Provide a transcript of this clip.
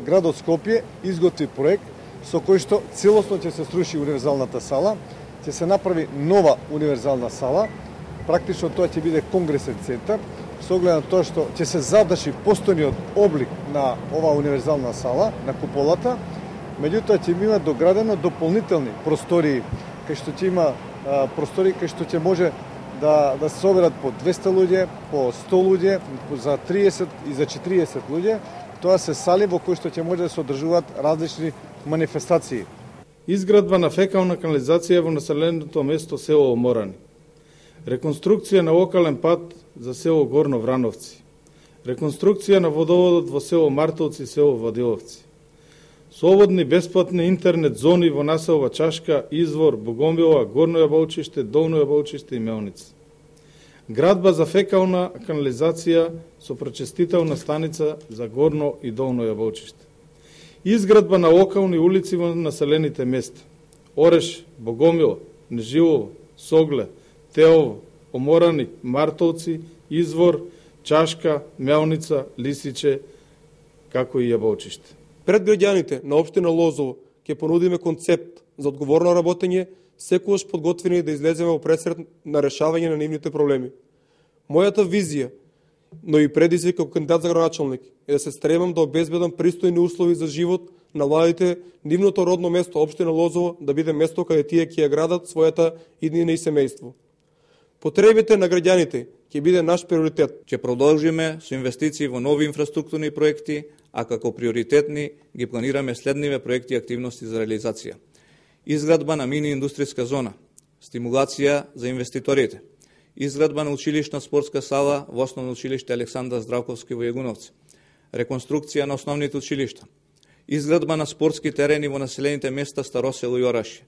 градот Скопје изготви проект со кој што целосно ќе се сруши универзалната сала, ќе се направи нова универзална сала, практично тоа ќе биде конгресен центар, со оглед на тоа што ќе се задржи постојниот облик на оваа универзална сала, на куполата, меѓутоа ќе има доградено дополнителни простории, кај што ќе има простории кај што ќе може да се соберат по 200 луѓе, по 100 луѓе, за 30 и за 40 луѓе. Тоа се сали во кои што ќе може да се одржуваат различни манифестации. Изградба на фекална канализација во населеното место село Оморани. Реконструкција на локален пат за село Горно Врановци. Реконструкција на водоводот во село Мартовци и село Вадиловци. Слободни бесплатни интернет зони во населба Чашка, Извор, Богомила, Горно Јаболчиште, Долно Јаболчиште и Мелница. Градба за фекална канализација со пречистителна станица за Горно и Долно Јаболчиште. Изградба на локални улици во населените места. Ореш, Богомила, Нежилово, Согле, Теово, Оморани, Мартовци, Извор, Чашка, Мелница, Лисиче, како и Јаболчиште. Пред граѓаните на општина Лозово ќе понудиме концепт за одговорно работење, секогаш подготвени да излеземе во пресред на решавање на нивните проблеми. Мојата визија, но и предизвик како кандидат за градоначалник е да се стремам да обезбедам пристојни услови за живот на младите, нивното родно место општина Лозово да биде место каде тие ќе ја градат својата иднина и семејство. Потребите на граѓаните ќе биде наш приоритет. Ќе продолжиме со инвестиции во нови инфраструктурни проекти, а како приоритетни ги планираме следниве проекти и активности за реализација. Изградба на мини индустријска зона, стимулација за инвеститорите, изградба на училишна спортска сала во Основно училиште Александар Здравковски во Јагуновци, реконструкција на основните училишта, изградба на спортски терени во населените места Старосело и Орашје,